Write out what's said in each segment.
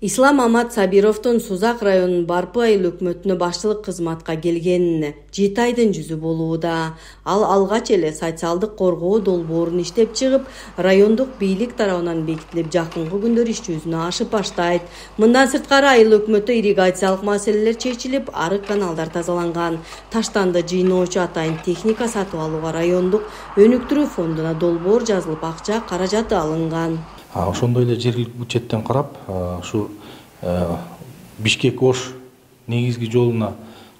Ислам Амат Сабировдун Сузак районунун Барпы айыл өкмөтүнө башчылык кызматка келгенине 7 айдын жүзү болууда. Ал алгач эле социалдык коргоо долбоорун иштеп чыгып, райондук бийлик тарабынан бекитилип, жакынкы күндөр иш жүзүнө ашып баштайт. Мындан сырткары айыл өкмөтү ирригациялык маселелер чечилип, арык каналдар тазаланган. Таштанды жыйноочу атайын техника сатып алууга райондук өнүктүрүү фондуна долбоор жазылып, акча каражаты алынган. Ошондой эле жергиликтүү бюджеттен карап, ушу Бишкек-Ош негизги жолуна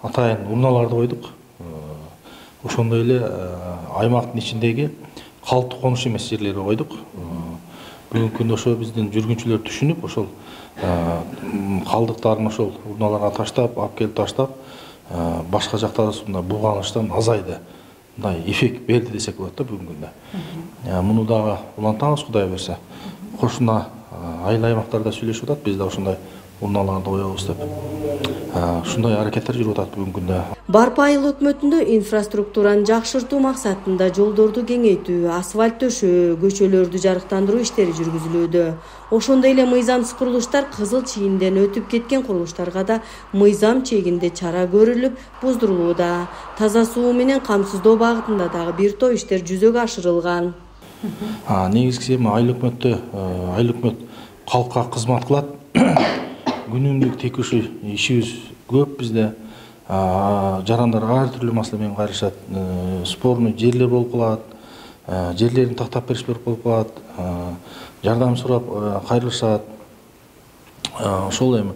атайын урналарды койдук. Ошондой эле аймактын ичиндеги калктуу конуш эмес жерлерге койдук. Бүгүнкү күндө ошо биздин жүргүнчүлөр түшүнүп, ошол калдыктарын ошол урналарга таштап, алып келип таштап, башка жактарында булганыштан азайды. Мындай эффект берди десек болот да бүгүнкү күндө. Муну дагы улантабыз, Кудай берсе. Кошуна айыл аймактарда сүйлөшүп атат, биз да ошондой урналарды коебуз деп. Ушундай аракеттер жүрүп атат бүгүнкү күндө. Барпы айыл өкмөтүндө инфраструктураны жакшыртуу максатында жолдорду кеңейтүү, асфальт төшөө, көчөлөрдү жарыктандыруу иштери жүргүзүлүүдө. Ошондой эле мыйзамсыз курулуштар, кызыл чийинден өтүп кеткен курулуштарга да мыйзам чегинде чара көрүлүп, буздурулууда. Таза суу менен камсыздоо багытында дагы бир топ иштер жүзөгө ашырылган. Негизгиси айыл өкмөт калкка кызмат кылат. Күнүмдүк текущий ишибиз көп бизде. Жарандар ар түрлүү маселе менен кайрышат. Спорный жерлер болуп калат. Жерлерин тактап беришпей болуп калат. Жардам сурап кайрылышат. Ошол эми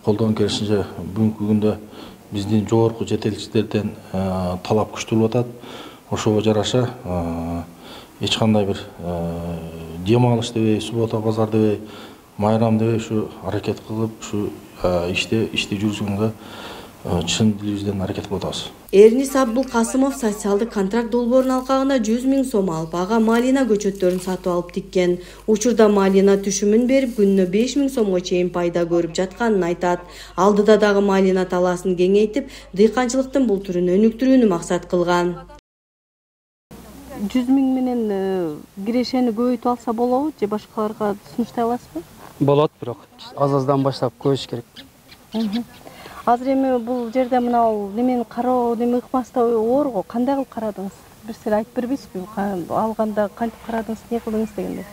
колдон келишинче бүгүнкү күндө биздин жогорку жетекчилерден талап күчтүү болуп атат. Ошого жараша эч кандай бир дем алыш дебей, суббота базар дебей, майрам дебей ушу аракет кылып, ушу ишти жүргүзгөнгө чын дилибизден аракет кылып атабыз. Эрнис Абдулкасымов социалдык контракт долбоорунун алкагына 100 000 сом алып, ага малина көчөттөрүн сатып алып тиккен. Учурда малина түшүмүн берип, күнүнө 5 000 сомго чейин пайда көрүп жатканын айтат. Алдыда дагы малина талаасын кеңейтип, дыйканчылыктын бул түрүн өнүктүрүүнү максат кылган. 100 000 менен кирешени көбөйтүп алса болобу же башкаларга сунуштай аласызбы? Болот, бирок аз-аздан баштап көбөйүш керек. Азыр эми бул жерде мына немени кароо, неме ыкмастай оор го. Кандай кылып карадыңыз? Бир сиз айтып бербейсизби? Алганда кантип карадыңыз, не кылдыңыз дегенде?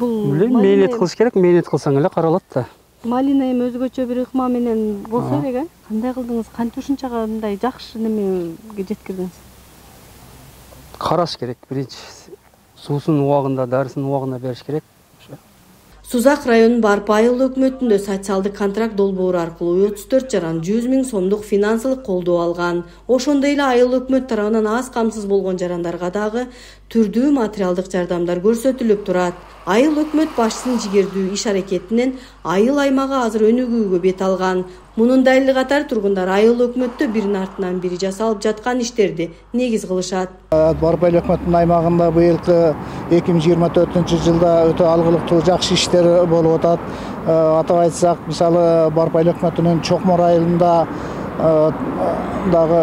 Бул мээнет кылыш керек, мээнет кылсаң эле каралат да. Малина эми өзгөчө бир ыкма менен болсо керек, кандай кылдыңыз? Кантип ушунчага мындай жакшы немеге жеткирдиңиз? Караш керек, биринчи суусунун убагында, дарысынын убагында бериш керек. Сузак районунун Барпы айыл өкмөтүндө социалдык контракт долбоору аркылуу 34 жаран 100 000 сомдук финансылык колдоо алган. Ошондой эле айыл өкмөт тарабынан аз камсыз болгон жарандарга дагы түрдүү материалдык жардамдар көрсөтүлүп турат. Айыл өкмөт башчысынын жигердүү иш аракетинен айыл аймагы азыр өнүгүүгө бет алган. Мунун дайылы катары тургундар айыл өкмөттө биринин артынан бири жасалып жаткан иштерди негиз кылышат. Барпы айыл өкмөтүнүн аймагында быйылкы 2024-жылда өтө алгылыктуу жакшы иштер болуп атат. Атап айтсак, мисалы Барпы айыл өкмөтүнүн Чокмор айылында дагы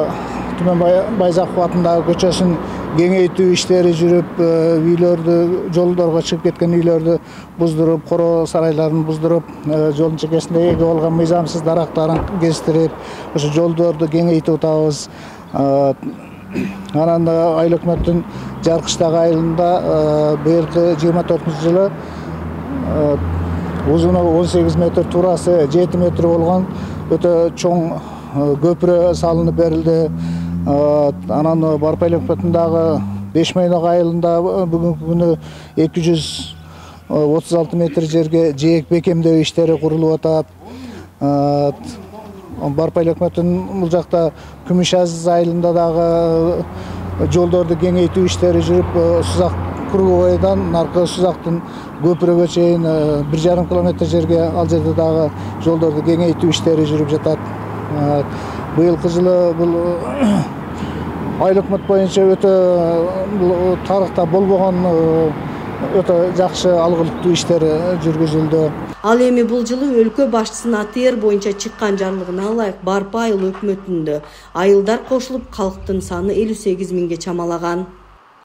Түмөн Байзаков атындагы көчөсүн кеңейтүү иштери жүрүп, үйлөрдү, жолдорго чыгып кеткен үйлөрдү буздуруп, коро сарайларын буздуруп, жолдун чекесинде эге болгон мыйзамсыз дарактарын кестирип, ошо жолдорду кеңейтип атабыз. Анан айыл өкмөттүн Жаркыштагы айылында быйылкы 24-жылы узуну 18 метр, туурасы 7 метр болгон өтө чоң көпүрө салынып берилди. Анан Барпы айыл өкмөтүндагы Бешмойнок айылында бүгүнкү күнү 236 метр жерге жээк бекемдөө иштери курулуп атат. Барпы айыл өкмөтүнүн бул жакта Күмүшаз айылында дагы жолдорду кеңейтүү иштери жүрүп, Сузак круговойдон наркы Сузактын көпүрөгө чейин 1,5 километр жерге ал жерде дагы жолдорду кеңейтүү иштери жүрүп жатат. Быйылкы жылы бул айыл өкмөт боюнча өтө тарыхта болбогон өтө жакшы алгылыктуу иштер жүргүзүлдү. Ал эми бул жылы өлкө башчысынын АТР боюнча чыккан жарлыгына ылайык Барпы айыл өкмөтүндө айылдар кошулуп, калктын саны 58 000ге чамалаган.